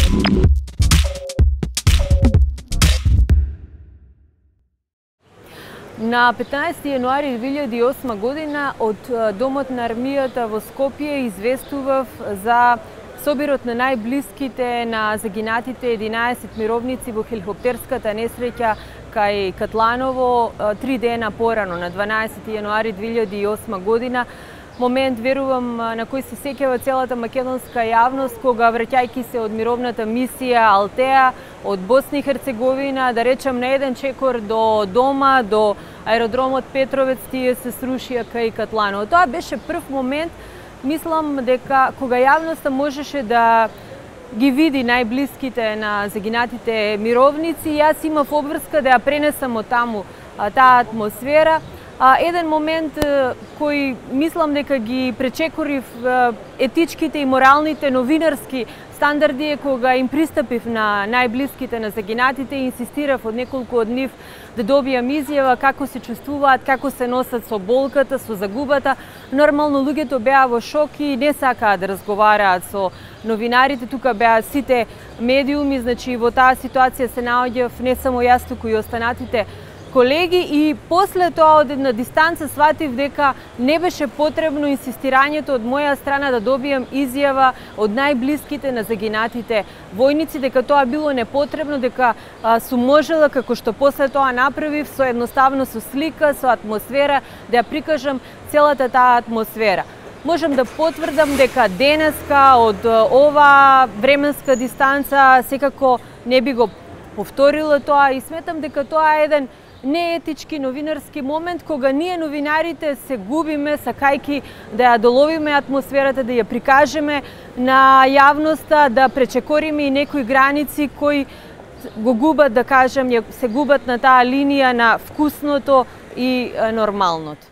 На 15 јануари 2008 година од Домот на армијата во Скопје известував за собирот на најблиските на загинатите 11 мировници во хеликоптерската несреќа кај Катланово 3 дена порано, на 12 јануари 2008 година. Момент, верувам, на кој се сеќава целата македонска јавност, кога враќајќи се од мировната мисија Алтеа, од Босна и Херцеговина, да речам на еден чекор до дома, до аеродромот Петровец, тие се срушија кај Катланово. Тоа беше прв момент, мислам дека кога јавноста можеше да ги види најблиските на загинатите мировници, јас имав обврска да ја пренесам од таму таа атмосфера. Еден момент кој мислам дека ги пречекорив етичките и моралните новинарски стандарди е кога им пристапив на најблиските на загинатите и инсистирав од неколку од нив да добијам изјава како се чувствуваат, како се носат со болката, со загубата. Нормално луѓето беа во шок и не сакаа да разговараат со новинарите, тука беа сите медиуми, значи во таа ситуација се наоѓав не само јас, туку и останатите колеги, и после тоа од една дистанца сватив дека не беше потребно инсистирањето од моја страна да добијам изјава од најблиските на загинатите војници, дека тоа било непотребно, дека сум можела, како што после тоа направив, со едноставно со слика, со атмосфера, да ја прикажам целата таа атмосфера. Можам да потврдам дека денеска од ова временска дистанца секако не би го повторила тоа и сметам дека тоа е еден неетички новинарски момент кога ние новинарите се губиме сакајки да ја доловиме атмосферата, да ја прикажеме на јавноста, да пречекориме и некои граници кои го губат, да кажем, се губат на таа линија на вкусното и нормалното.